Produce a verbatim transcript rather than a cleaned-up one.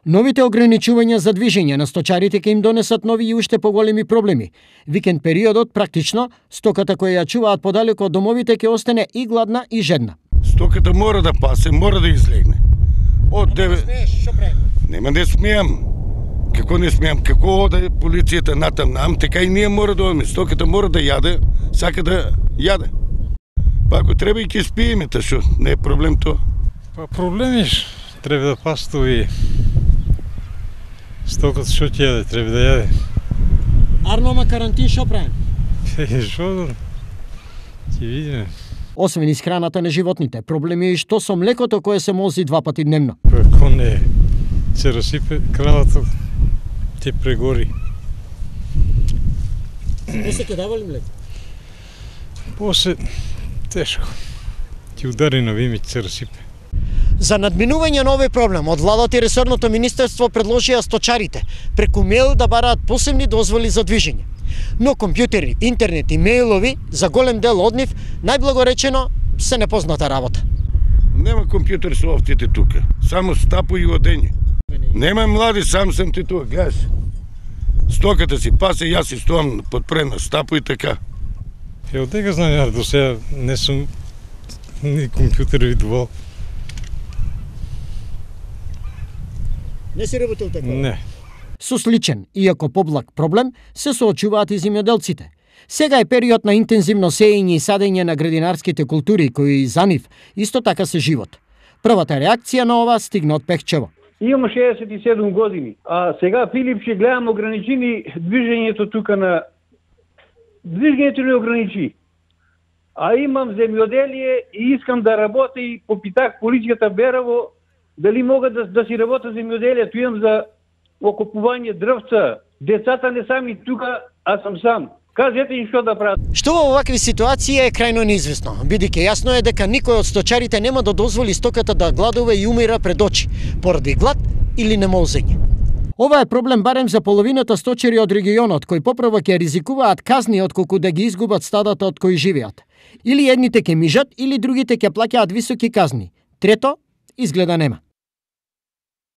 Новите ограничувања за движење на сточарите ќе им донесат нови и уште поголеми проблеми. Викенд периодот практично стоката која ја чуваат подалеку од домовите ќе остане и гладна и жедна. Стоката мора да пасе, мора да излегне. Од деве... Нема да смеам. Како не смеам, како оде полицијата натам нам, така и ние мора да одиме. Стоката мора да јаде, сака да јаде. Па ако треба и ќе спиеме, та шо, не е проблем тоа. Па проблемиш, треба да пастови. Стоката шо ќе јаде, треба да јаде. Арнома карантин шо правим? Е, шо, ќе видиме. Освен исхраната на животните, проблеми е и што со млекото кое се мози два пати дневно. Ако не се расипе кравата, ќе прегори. Не се ќе дава ли млеко? После тешко. Ќе удари на вими, ќе се расипе. За надминување на овој проблем, од владата и ресорното министерство предложија сточарите преку мејл да бараат посебни дозволи за движење. Но компјутери, интернет и мејлови за голем дел од нив, најблаго речено, се непозната работа. Нема компјутер со овците тука, само стапу и одење. Нема млади, сам сам ти тука, гледаш. Стоката си пасе, јас си стоам подпред на стапу и така. Е, од дека знаеш, до сега не сум ни компјутер видувал. Не си работил така? Не. Со сличен, иако поблаг проблем, се соочуваат и земјоделците. Сега е период на интензивно сеење и садење на градинарските култури, кои за нив исто така се живот. Првата реакција на ова стигна од Пехчево. Имам шеесет и седум години, а сега Филип ќе гледам ограничени движењето тука на... Движењето не ограничи. А имам земјоделие и искам да работя и попитах полицијата Берово дали могат да, да си работа земјоделието. Имам за окупување дрвца. Децата не сами тука, а сам сам. Кажете им што да прават. Што во овакви ситуации е крајно неизвестно, бидејќи јасно е дека никој од сточарите нема да дозволи стоката да гладува и умира пред очи, поради глад или немолзење. Ова е проблем барем за половината сточари од регионот, кои поправо ќе ризикуваат казни отколку да ги изгубат стадата од кои живеат. Или едните ќе мижат, или другите ќе плаќаат високи казни. Трето, изгледа нема.